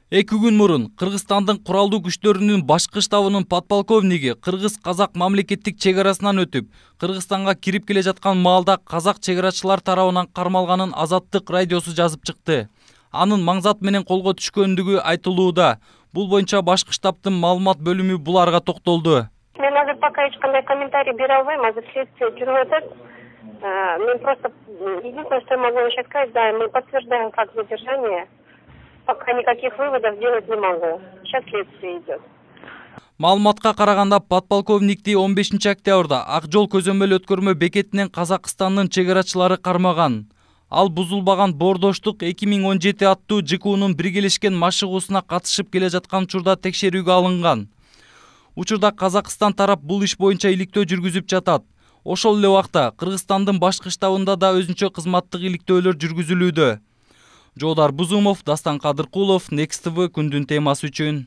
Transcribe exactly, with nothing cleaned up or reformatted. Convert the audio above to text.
Эки күн мурун Кыргызстандын куралдуу күчтөрүнүн башкы штабынын подполковниги кыргыз-казак мамлекеттик чек арасынан өтүп, Кыргызстанга кирип келе жаткан маалда казак чек арачылар тарабынан кармалганын Азаттык радиосу жазып чыкты. Анын маңзат менен колго түшкөндүгү айтылууда. Бул боюнча башкы штабтын маалымат бөлүмү буларга токтолду. Мен азыр пока эч кандай комментарий бере албайм, азыр следствие жүрүп атат. Мен просто единственное, что я могу еще сказать, да, мы подтверждаем факт задержания. Пока никаких выводов делать не могу. Сейчас следствие идет. Маалыматка караганда подполковникти он бешинчи октябрда Ак жол көзөмөл өткөрмө бекетинен Казакстандын чек арачылары кармаган. Ал бузулбаган боордоштук эки миң он жети аттуу Ж К Унун биргелешкен машыгуусуна катышып келе жаткан учурда текшерүүгө алынган. Учурда Казакстан тарап бул иш боюнча иликтөө жүргүзүп жатат. Ошол эле убакта Кыргызстандын башкы штабында да өзүнчө кызматтык иликтөөлөр жүргүзүлүүдө. Жоодар Бузумов, Дастан Кадыркулов, Next T V күндүн темасы үчүн.